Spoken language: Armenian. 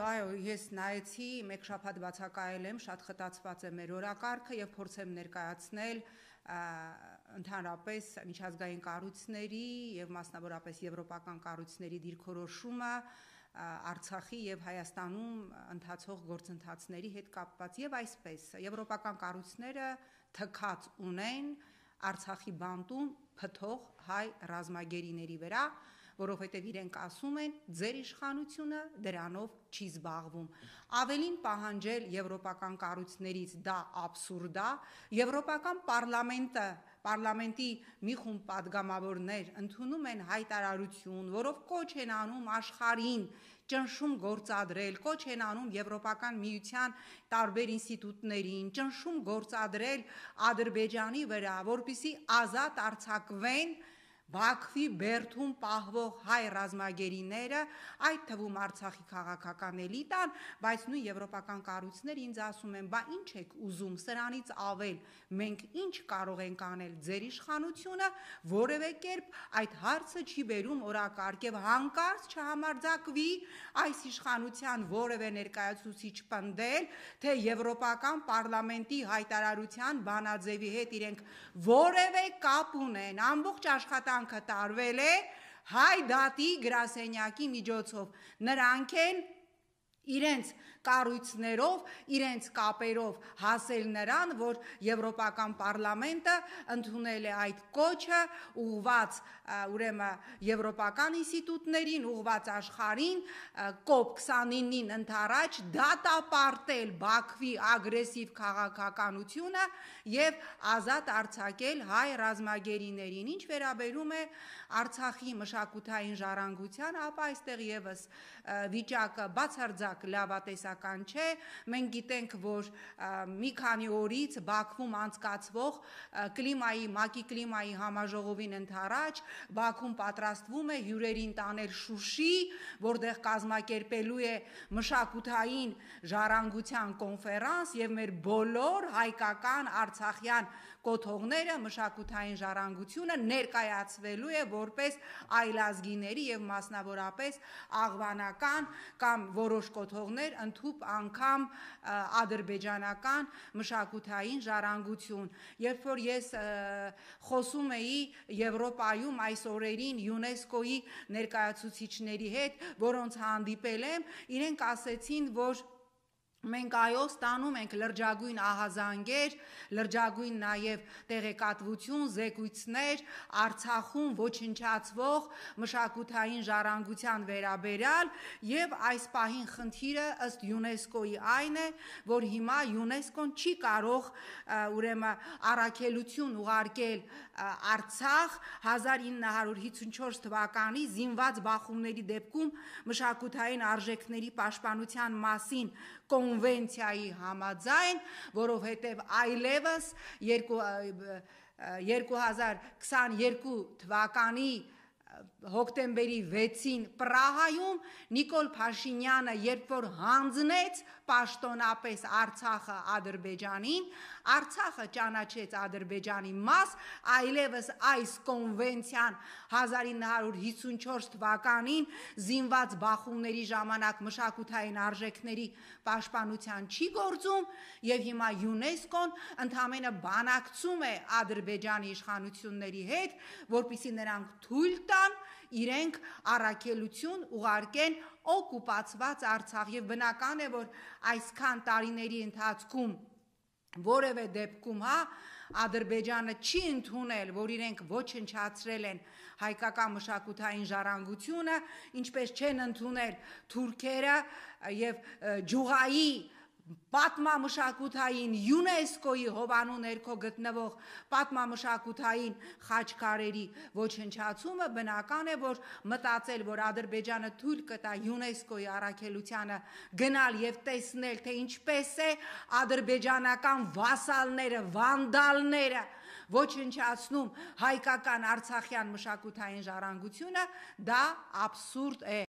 Այո, ես նայեցի, մեկ շաբաթ բացակայել եմ, շատ խտացված է մեր օրակարգը եւ փորձեմ ներկայացնել ընդհանրապես միջազգային կառույցների եւ մասնավորապես եվրոպական կառույցների դիրքորոշումը Արցախի եւ Հայաստանում ընթացող գործընթացների հետ կապված եւ այսպես եվրոպական կառույցները թքած ունեն Արցախի բանտում փթող հայ ռազմագերիների վրա, որովհետև իրենք ասում են, ձեր իշխանությունը դրանով չի զբաղվում։ Ավելին պահանջել եվրոպական կառույցներից դա աբսուրդ է, եվրոպական parlamenti մի խումբ падգամավորներ ընդունում են հայտարարություն, որով կոչ են անում աշխարհին ճնշում գործադրել, կոչ են անում եվրոպական միության տարբեր ինստիտուտներին, ճնշում գործադրել Ադրբեջանի վրա, որպեսզի ազատ արձակվեն Բաքվի բերդում պահվող հայ ռազմագերիները, այդ թվում Արցախի քաղաքական էլիտան, բայց նույն եվրոպական կառույցները ինձ ասում են, բա ինչ եք ուզում, սրանից ավել, մենք ինչ կարող ենք անել, ձեր իշխանությունը որևէ կերպ այդ հարցը չի բերում օրակարգ եւ հանկարծ չհամարձակվի այս իշխանության որևէ ներկայացուցիչ պնդել, թե եվրոպական parlamenti հայտարարության բանաձևի հետ իրենք որևէ կապ ունեն, ամբողջ աշխատանքը տարվել է հայ դատի գրասենյակի միջոցով, նրանք են իրենց կառույցներով, իրենց կապերով հասել նրան, որ եվրոպական պարլամենտը ընդունել է այդ կոչը, ուղղված ուրեմն եվրոպական ինստիտուտներին, ուղղված աշխարհին, COP29-ին ընդառաջ դատապարտել Բաքվի ագրեսիվ քաղաքականությունը եւ ազատ արձակել հայ ռազմագերիներին, ինչ վերաբերում է Արցախի մշակութային ժառանգությանը, ապա այստեղ եւս վիճակը բացարձակ լավատեսական չէ, մենք գիտենք, որ մի քանի օրից Բաքվում անցկացվող ՄԱԿ-ի կլիմայի համաժողովին ընդառաջ Բաքվում պատրաստվում է հյուրերին տանել Շուշի, որտեղ կազմակերպելու է մշակութային ժառանգության կոնֆերանս եւ մեր բոլոր հայկական արցախյան կոթողները մշակութային ժառանգությունը ներկայացվելու է որպես այլազգիների եւ մասնավորապես աղվանական կամ որոշ կոթողներ ընդհուպ անգամ ադրբեջանական մշակութային ժառանգություն։ Երբ որ ես խոսում էի Եվրոպայում այս օրերին ՅՈՒՆԵՍԿՕ-ի ներկայացուցիչների հետ, որոնց հանդիպել եմ, իրենք ասեցին, որ մենք այո ստանում ենք լրջագույն ահազանգեր, լրջագույն նաև տեղեկատվություն, զեկույցներ Արցախում ոչնչացվող մշակութային ժառանգության վերաբերյալ եւ այս պահին խնդիրը ըստ ՅՈՒՆԵՍԿՕ-ի այն է, որ հիմա ՅՈՒՆԵՍԿՕ-ն չի կարող ուրեմն առաքելություն ուղարկել Արցախ 1954 թվականի զինված բախումների դեպքում մշակութային արժեքների պաշտպանության մասին կոնվենցիայի համաձայն, որովհետև այլևս 2022 թվականի հոկտեմբերի 6-ին Պրահայում Նիկոլ Փաշինյանը երբ որ հանձնեց պաշտոնապես Արցախը Ադրբեջանին, Արցախը ճանաչեց Ադրբեջանի մաս, այլևս այս կոնվենցիան 1954 թվականին զինված բախումների ժամանակ մշակութային արժեքների պաշտպանության չի գործում եւ հիմա ՅՈՒՆԵՍԿՕ-ն ընդամենը բանակցում է Ադրբեջանի իշխանությունների հետ, որպեսզի նրանք թույլ տան իրենք առաքելություն ուղարկեն օկուպացված Արցախ եւ բնական է, որ այսքան տարիների ընթացքում որևէ դեպքում Ադրբեջանը չի ընդունել, որ իրենք ոչնչացրել են հայկական մշակութային ժառանգությունը, ինչպես չեն ընդունել թուրքերը եւ Ջուղայի պատմամշակութային ՅՈՒՆԵՍԿՕ-ի հովանու ներքո գտնվող պատմամշակութային խաչքարերի ոչնչացումը, բնական է, որ մտածել, որ Ադրբեջանը թույլ կտա ՅՈՒՆԵՍԿՕ-ի առաքելությանը գնալ եւ տեսնել, թե ինչպես է ադրբեջանական վասալները, վանդալները ոչնչացնում հայկական արցախյան մշակութային ժառանգությունը, դա աբսուրդ է։